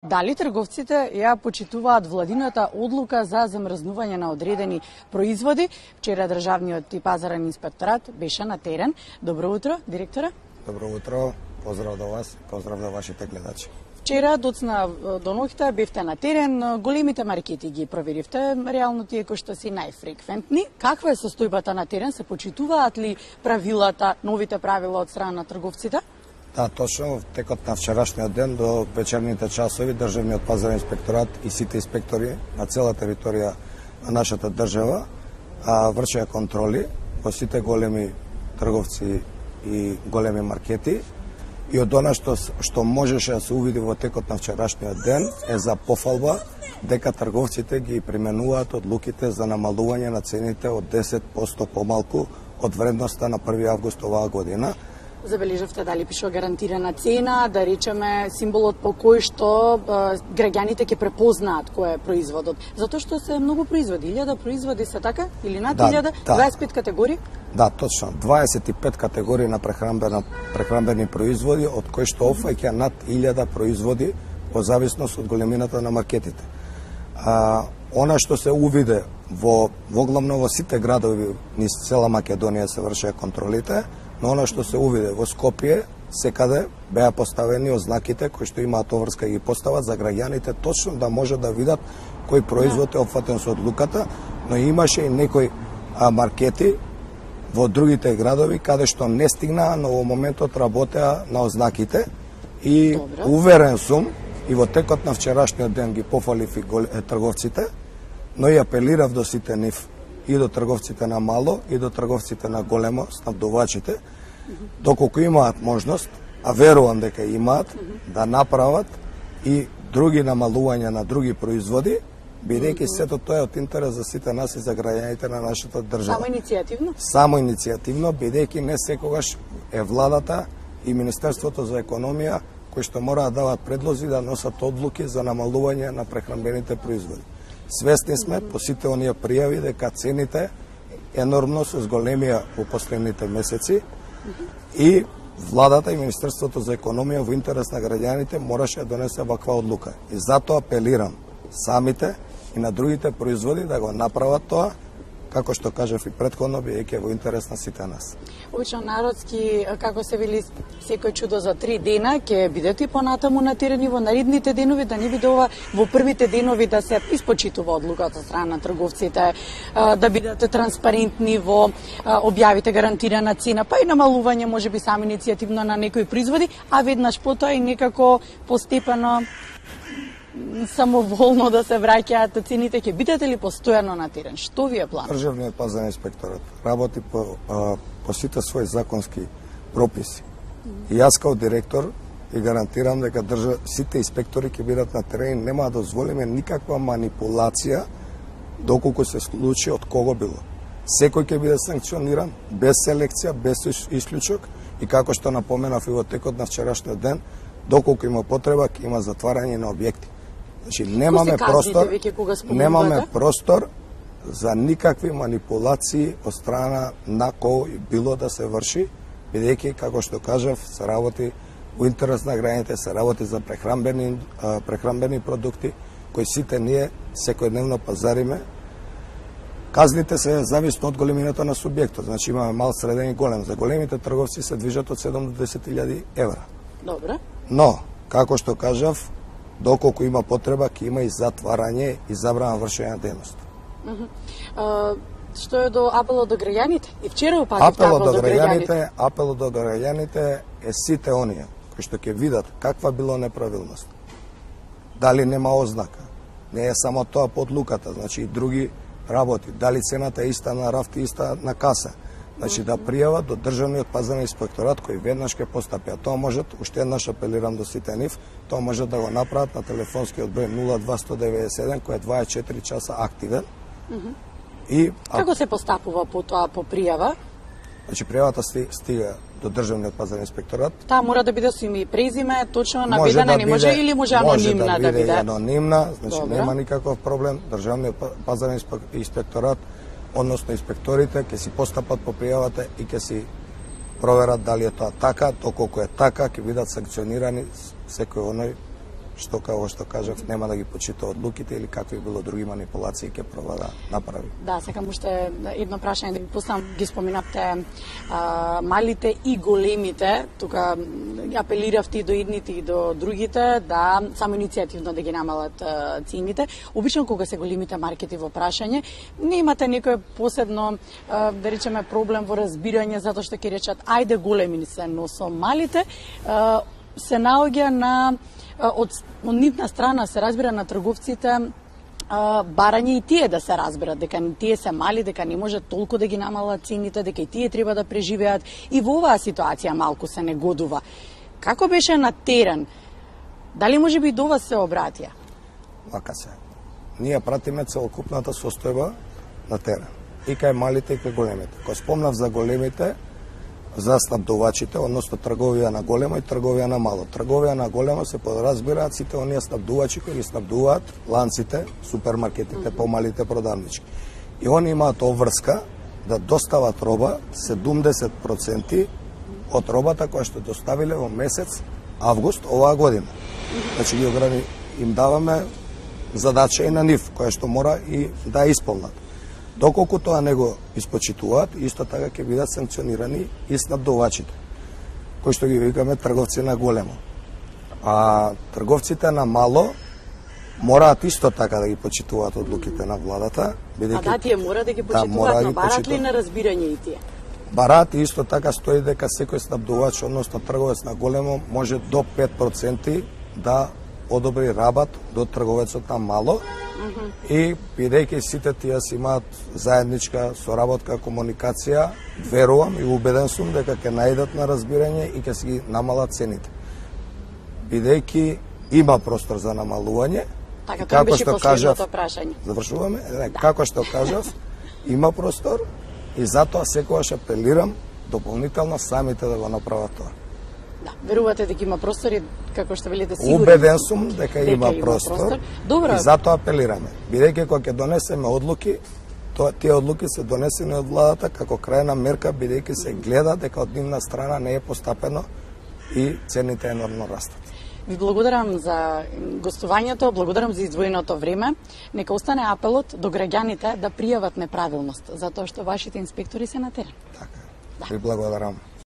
Дали трговците ја почитуваат владината одлука за замрзнување на одредени производи? Вчера државниот и пазарен инспекторат беше на терен. Добро утро, директора. Добро утро, поздрав до вас, поздрав до вашите гледачи. Вчера доцна до ноќта бевте на терен, големите маркети ги проверивте, реално тие кои што си најфреквентни. Каква е состојбата на терен? Се почитуваат ли правилата, новите правила од страна на трговците? Да, точно, во текот на вчерашниот ден до вечерните часови државниот пазарен инспекторат и сите инспектори на цела територија на нашата држава вршеа контроли во сите големи трговци и големи маркети. И од она што можеше да се увиди во текот на вчерашниот ден е за пофалба дека трговците ги применуваат одлуките за намалување на цените од 10% помалку од вредноста на 1 август оваа година. Забележавте дали пишува гарантирана цена, да речеме символот по кој што граѓаните ќе препознаат кој е производот. Затоа што се многу производи, 1000 производи се така или над 1000, 25 категории? Да, точно. 25 категории на прехранбени производи, од кои што опфаќа над 1000 производи во зависност од големината на маркетите. Она што се увиде воглавно во сите градови низ цела Македонија се вршеа контролите, но она што се увиде во Скопје, секаде беа поставени ознаките кои што имаат оврска и ги постават за граѓаните точно да може да видат кој производ е опфатен со одлуката, но имаше и некои маркети во другите градови каде што не стигнаа, но во моментот работеа на ознаките и уверен сум и во текот на вчерашниот ден ги пофалив и трговците, но и апелирав до сите нив и до трговците на мало и до трговците на големо, снабдувачите, доколку имаат можност, а верувам дека имаат, да направат и други намалувања на други производи, бидејќи сето тоа е од интерес за сите нас и за граѓаните на нашата држава. Само иницијативно? Само иницијативно, бидејќи не секогаш е владата и Министерството за економија кои што мора да дават предлози да носат одлуки за намалување на прехранбените производи. Свесни сме по сите оние пријави дека цените енормно се зголемија во последните месеци и владата и Министерството за економија во интерес на граѓаните мораше да донесе ваква одлука. И затоа апелирам самите и на другите производи да го направат тоа, како што кажав и претходно, бидејќи во интерес на сите нас. Обично народски, како се вели, секој чудо за 3 дена, ќе бидете понатаму на терен и во наредните денови, да не биде ова во првите денови да се испочитува одлуката од страна на трговците, да бидете транспарентни во објавите гарантирана цена, па и намалување можеби сами иницијативно на некои производи, а веднаш потоа и некако постепено самоволно да се враќаат цените. Ќе бидете ли постојано на терен? Што ви е план? Државниот пазарен инспекторат работи по сите своји законски прописи. И јас као директор и гарантирам дека сите инспектори ќе бидат на терен, нема да дозволиме никаква манипулација доколку се случи од кого било. Секој ќе биде санкциониран без селекција, без исклучок и како што напоменав и во текот на вчерашниот ден, доколку има потреба, ќе има затварање на објекти. Значи немаме простор за никакви манипулации од страна на кој било да се врши, бидејќи како што кажав, се работи во интерес на граѓаните, се работи за прехранбени продукти кои сите ние секојдневно пазариме. Казните се зависно од големината на субјектот, значи имаме мал, среден и голем. За големите трговци се движат од 7 до 10.000 евра. Добре. Но, како што кажав, доколку има потреба, ќе има и затварање и забрана вршење на дејност. Што е до апелот до граѓаните? И вчера упативте апел до граѓаните. Апелот до граѓаните е сите оние кои што ќе видат каква било неправилност. Дали нема ознака, не е само тоа под луката, значи и други работи. Дали цената е иста на рафт и иста на каса. Значи да пријават до државниот пазарен инспекторат кој веднаш ќе постапи. А тоа можат, уште еднаш апелирам до сите нив, тоа можат да го направат на телефонскиот број 02197 кој е 24 часа активен. Како се постапува по тоа по пријава? Значи пријавата стига до државниот пазарен инспекторат. Таа мора да биде со име и презиме, точно наведена, не може или може анонимна да биде? Анонимна, значи нема никаков проблем. Државниот пазарен инспекторат, односно инспекторите, ќе си постапат по пријавата и ќе си проверат дали е тоа така, доколку е така, ќе бидат санкционирани секој оној што како што кажав нема да ги почита одлуките или какви било други манипулации ќе проба да направи. Да, сакам уште едно прашање да ви поставам, ги споминавте малите и големите, тука апелиравте и до едните и до другите да само иницијативно да ги намалат цените. Обично кога се големите маркети во прашање, не имате некој посебно да речеме проблем во разбирање затоа што ќе речат ајде големи се, но со малите се наоѓа на од нивна страна се разбира на трговците барање и тие да се разберат дека тие се мали, дека не може толку да ги намалат цените, дека и тие треба да преживеат и во оваа ситуација малку се негодува. Како беше на терен? Дали може би до вас се обратија? Вака се. Ние пратиме целокупната состојба на терен. И кај малите и кај големите. Кога спомнав за големите, за снабдувачите, односно трговија на големо и трговија на мало. Трговија на големо се подразбираат сите оние снабдувачи кои ги снабдуваат ланците, супермаркетите, помалите продавнички. И они имаат обврска да достават роба 70% од робата која што доставиле во месец август оваа година. Значи им даваме задача и на нив, која што мора и да исполнат. Доколку тоа не го испочитуваат, исто така ќе бидат санкционирани и снабдувачите, кои што ги викаме трговци на големо. А трговците на мало мораат исто така да ги почитуваат одлуките на владата, бидејќи да, тие мора да ги почитуваат, но барат ли на разбирање и тие? Барат и исто така стои дека секој снабдувач, односно трговец на големо, може до 5% да одобри рабат до трговецот на мало. И бидејќи сите тие си имаат заедничка соработка, комуникација, верувам и убеден сум дека ќе најдат на разбирање и ќе си ги намалат цените. Бидејќи има простор за намалување, така тоа беше последното прашање. Завршуваме, како што кажав, има простор и затоа секогаш апелирам дополнително самите да го направат тоа. Да, верувате дека има простор и како што велите сигурно. Убеден сум дека има простор. Добро. И затоа апелираме. Бидејќи кога ќе донесеме одлуки, тие одлуки се донесени од владата како крајна мерка, бидејќи се гледа дека од нивна страна не е постапено и цените енормно растат. Ви благодарам за гостувањето, благодарам за издвоеното време. Нека остане апелот до граѓаните да пријават неправилност, затоа што вашите инспектори се на терен. Така. Да. Ви благодарам.